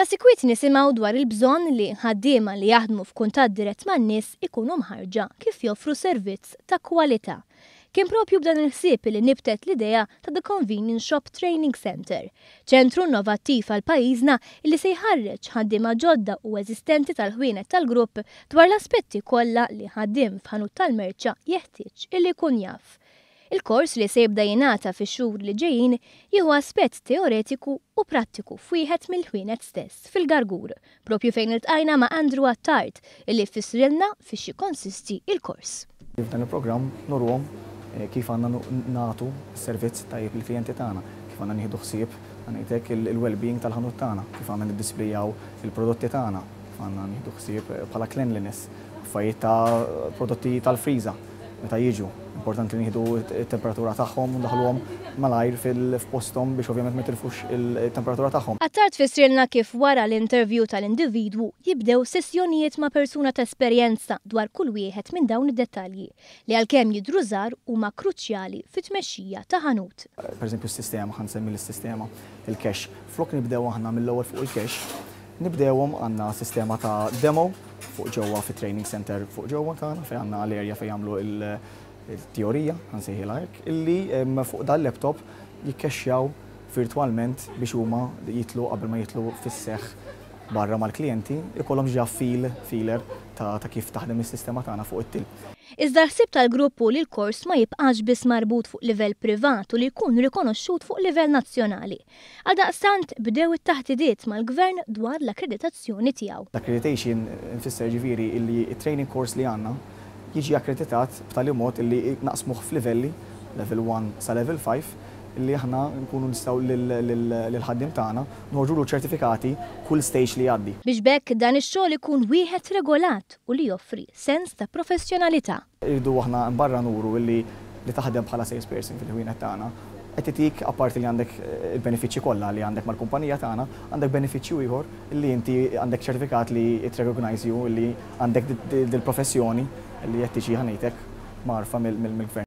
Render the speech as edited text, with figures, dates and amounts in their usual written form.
Ta' sikwit nisimgħu dwar il-bżonn li ħaddiema li jaħdmu f'kuntatt dirett man-nies ikunu mħarrġa kif joffru servizz ta' kwalità. Kien propju b'dan il-ħsieb li nibtet l-idea ta' The Convenience Shop Training Center, ċentru innovattiv għal pajjiżna li se jħarreġ ħaddiema ġodda u eżistenti tal-ħwienet tal-grupp dwar l-aspetti kollha li ħaddiem f'ħanut tal-merċa jeħtieġ illi jkun jaf. Il-kors, li se jibda jingħata fix-xhur li ġejjin, jieħu aspett teoretiku u prattiku f'wieħed mill-ħwienet stess fil-Gargur, propju fejn iltqajna ma' Andrew Attard illi fissrilna fiex jikkonsisti il-kors. F'dan il-programm nuruhom kif għandna nagħtu servizz tajjeb lill-klijenti tagħna, kif għandna nieħdu ħsieb, ngħidlek, il-well-being tal-ħanut tagħna, kif għandna niddisplejaw il-prodotti tagħna, kif għandna nieħdu ħsieb bħala cleanliness, affarijiet ta' prodotti tal-friża meta jiġu. Importanti li nieħdu t-temperatura tagħhom u ndaħluhom malajr fil-posthom biex ovvjament ma jitilfux il-temperatura tagħhom. Attard fissrilna kif wara l-interview tal-individwu jibdew sessjonijiet ma' persuna ta' esperjenza dwar kull wieħed minn dawn id-dettalji li, għalkemm jidhru żgħar, huma kruċjali fit-tmexxija ta' ħanut. Per eżempju s-sistema, ħa nsemmi l-sistema, il-cash. Flok nibdew aħna mill-ewwel fuq il-cash, nibdewhom għandna sistema ta' demo fuq ġewwa fit-training center fuq ġewwa tagħna, fejn għandna l-area fejn jagħmlu il-teorija, ħa nsejħilha hekk, illi fuq dal-laptop jikkexxjaw virtualment biex huma jitlu qabel ma jitlu fis-seħħ barra mal-klijenti, ikollhom ġa feeler ta' kif taħdem is-sistema tagħna fuq it-till. Iżda l-ħsieb tal-grupp hu li l-kors ma jibqax biss marbut fuq livell privat u li jkun rikonoxxut fuq livell nazzjonali. Għaldaqstant bdew it-taħdidiet mal-gvern dwar l-akkreditazzjoni tiegħu. L-accreditation nfisser ġifieri illi training course li għandna jiġi akkreditat b'tali mod illi naqsmuh f'livelli, level 1 sa level 5, illi aħna nkunu nistgħu lill-ħaddiem tagħna noħorġulu ċertifikati kull stage li jgħaddi. Biex b'hekk dan ix-xogħol ikun wieħed regolat u li joffri sens ta' professjonalità. Irridu aħna barra nuru illi li taħdem bħala salesperson fil-ħwienet tagħna qed itik, apparti li għandek il-benefiċċji kollha li għandek mal-kumpanija tagħna, għandek benefiċċju ieħor li inti għandek ċertifikat li it recognize you li għandek dil-professjoni li qed tiġi, ħa ngħidlek, mgħarrfa mill-gvern.